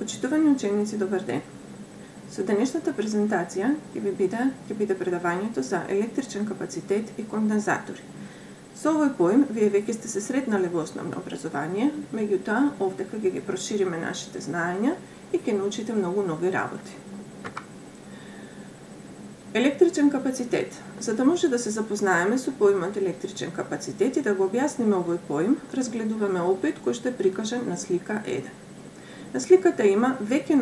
Почитувани ученици, добар ден! Со денешната презентација ќе биде предавањето за електричен капацитет и кондензатори. Со овој поим, вие веќе сте се сретнале во основно образование, меѓутоа, овдека ќе ги прошириме нашите знаења и ќе научите многу нови работи. Електричен капацитет. За да може да се запознаеме со поимот електричен капацитет и да го објасниме овој поим, разгледуваме опит кој што е прикажан на слика 1. На сликата има веќе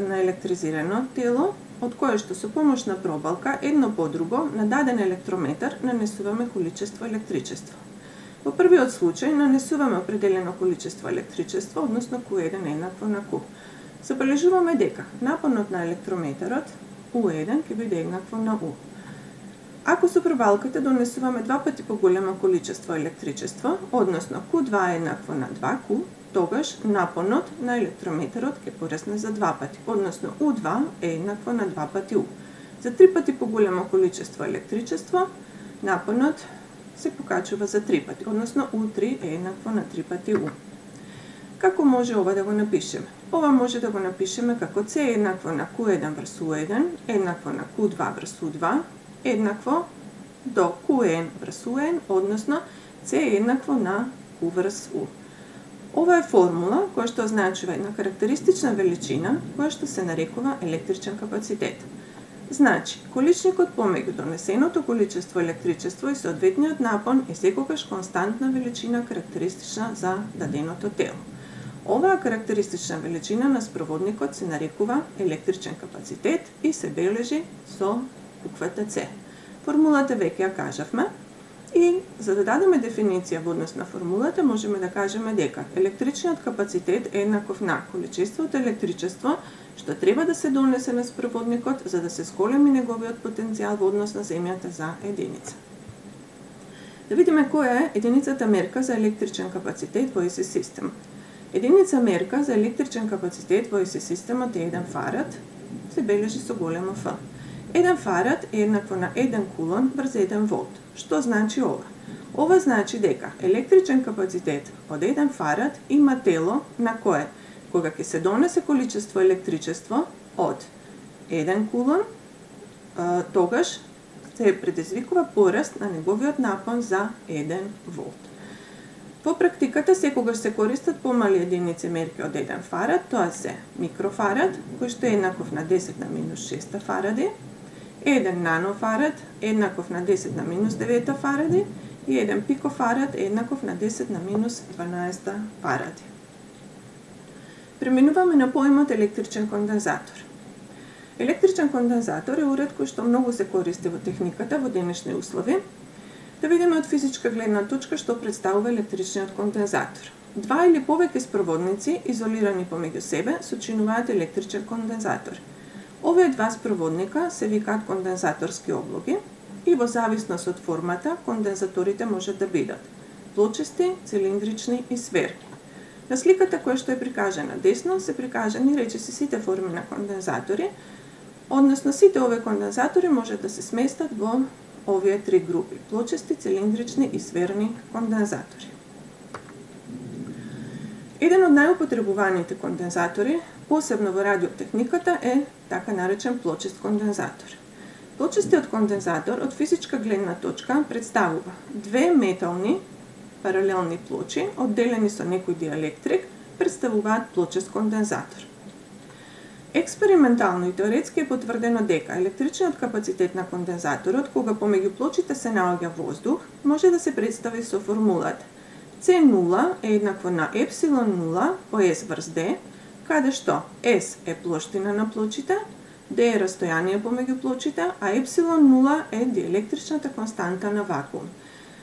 наелектризирано тело, од кое што со помош на пробалка едно по друго на даден електрометар нанесуваме количество електричество. Во првиот случај нанесуваме определено количество електричество, односно Q1 еднакво на Q. Забележуваме дека напонот на електрометарот U1 ќе биде еднакво на U. Ако со пробалката донесуваме два пати поголемо количество електричество, односно Q2 еднакво на 2Q, тогаш напонот на електрометарот ќе порасне за 2 пати, односно U2 е еднакво на 2 пати U. За 3 пати поголемо количество електричество, напонот се покачува за 3 пати, односно U3 е еднакво на 3 пати U. Како може ова да го напишеме? Ова може да го напишеме како C еднакво на Q1 врз U1, еднакво на Q2 врз U2, еднакво до Qn врз Un, односно C еднакво на Q врз U. Ова е формула која што означува една карактеристична величина која што се нарекува електричен капацитет. Значи, количникот помеѓу донесеното количество електричество и соодветниот напон е секогаш константна величина карактеристична за даденото тело. Оваа карактеристична величина на спроводникот се нарекува електричен капацитет и се бележи со буквата С. Формулата веќе ја кажавме. И за да дадеме дефиниција во однос на формулата, можеме да кажеме дека електричниот капацитет е еднаков на количеството електричество што треба да се донесе на спроводникот за да се зголеми неговиот потенцијал во однос на земјата за единица. Да видиме која е единицата мерка за електричен капацитет во ЕС системот. Единица мерка за електричен капацитет во ЕС системот е 1 фарад, се бележи со големо Ф. 1 фарад е еднакво на 1 кулон врз 1 волт. Што значи ова? Ова значи дека електричен капацитет од 1 фарад има тело на кое, кога ќе се донесе количество електричество од 1 кулон, тогаш се предизвикува пораст на неговиот напон за 1 волт. Во практиката секогаш се користат помали единици мерки од 1 фарад, тоа се микрофарад, кој што е еднаков на 10 на минус 6 фаради, 1 нанофарад еднаков на 10 на минус 9 фаради и 1 пикофарад еднаков на 10 на минус 12 фаради. Преминуваме на поимот електричен кондензатор. Електричен кондензатор е уред кој што многу се користи во техниката во денешни услови. Да видиме од физичка гледна точка што представува електричниот кондензатор. Два или повеќе спроводници изолирани помеѓу себе сочинуваат електричен кондензатор. Овие два спроводника се викаат кондензаторски облоги и во зависност од формата, кондензаторите можат да бидат плочести, цилиндрични и сферни. На сликата која што е прикажана десно се прикажани речиси сите форми на кондензатори, односно сите овие кондензатори можат да се сместат во овие три групи: плочести, цилиндрични и сферни кондензатори. Еден од најупотребуваните кондензатори, посебно во радиотехниката, е така наречен плочест кондензатор. Плочестиот кондензатор од физичка гледна точка представува две метални паралелни плочи, одделени со некој диелектрик, представуваат плочест кондензатор. Експериментално и теоретски е потврдено дека електричниот капацитет на кондензаторот, кога помеѓу плочите се наоѓа воздух, може да се представи со формулата C0 е еднакво на епсилон 0 по S врз D, каде што S е плоштина на плочите, D е растојание помеѓу плочите, а епсилон 0 е диелектричната константа на вакуум.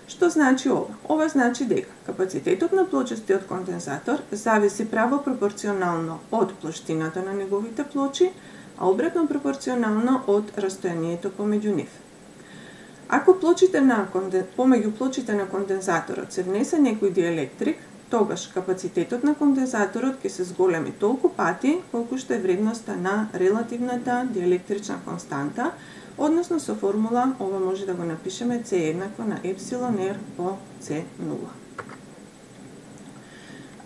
Што значи ова? Ова значи дека капацитетот на плочестиот кондензатор зависи право пропорционално од плоштината на неговите плочи, а обратно пропорционално од растојанието помеѓу нив. Ако помеѓу плочите на кондензаторот се внесе некој диелектрик, тогаш капацитетот на кондензаторот ќе се зголеми толку пати колку што е вредноста на релативната диелектрична константа, односно со формула ова може да го напишеме C еднакво на епсилон R по C0.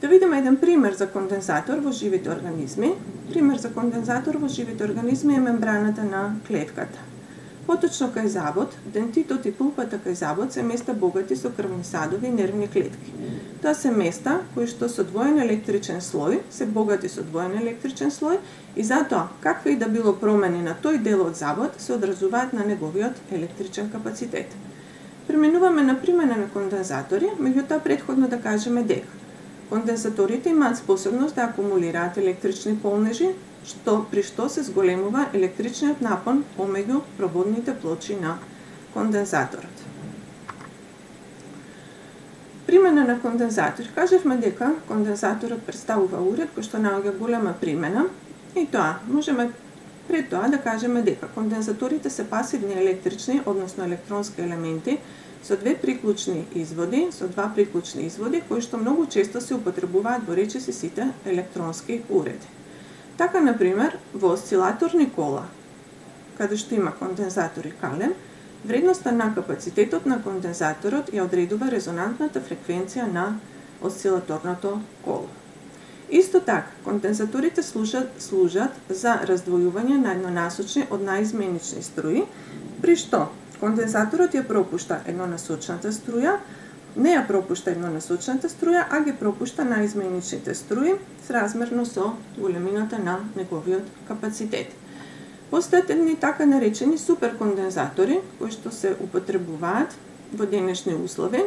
Да видиме еден пример за кондензатор во живите организми. Пример за кондензатор во живите организми е мембраната на клетката. Поточно кај забот, дентитот и пулпата кај забот се места богати со крвни садови и нервни клетки. Тоа се места кои што со двоен електричен слој, се богати со двоен електричен слој и затоа какви и да било промени на тој дел од забот се одразуваат на неговиот електричен капацитет. Преминуваме на примена на кондензатори, меѓутоа претходно да кажеме дека кондензаторите имаат способност да акумулираат електрични полнежи, при што се зголемува електричниот напон помеѓу проводните плочи на кондензаторот. Примена на кондензатор. Кажевме дека кондензаторот представува уред кој што наоѓа голема примена и тоа можеме пред тоа да кажеме дека кондензаторите се пасивни електрични, односно електронски елементи со два приклучни изводи кои што многу често се употребуваат во речиси сите електронски уреди. Така, например, во осцилаторни кола, каде што има кондензатор и калем, вредноста на капацитетот на кондензаторот ја одредува резонантната фреквенција на осцилаторното коло. Исто така, кондензаторите служат за раздвојување на еднонасочни од наизменични струи, при што кондензаторот ја пропушта еднонасочната струја, не ја пропушта еднонасочната струја, а ги пропушта наизменичните струи сразмерно со големината на неговиот капацитет. Постојат едни така наречени суперкондензатори, кои што се употребуваат во денешни услови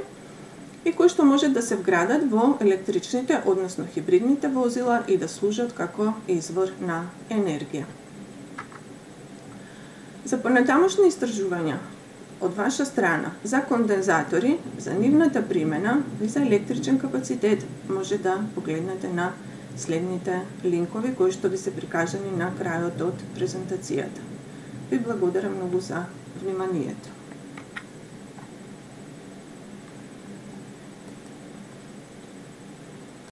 и кои што може да се вградат во електричните, односно хибридните возила и да служат како извор на енергија. За понатамошни истражувања од ваша страна за кондензатори, за нивната примена и за електричен капацитет може да погледнете на следните линкови кои што ви се прикажани на крајот од презентацијата. Ви благодарам многу за вниманието.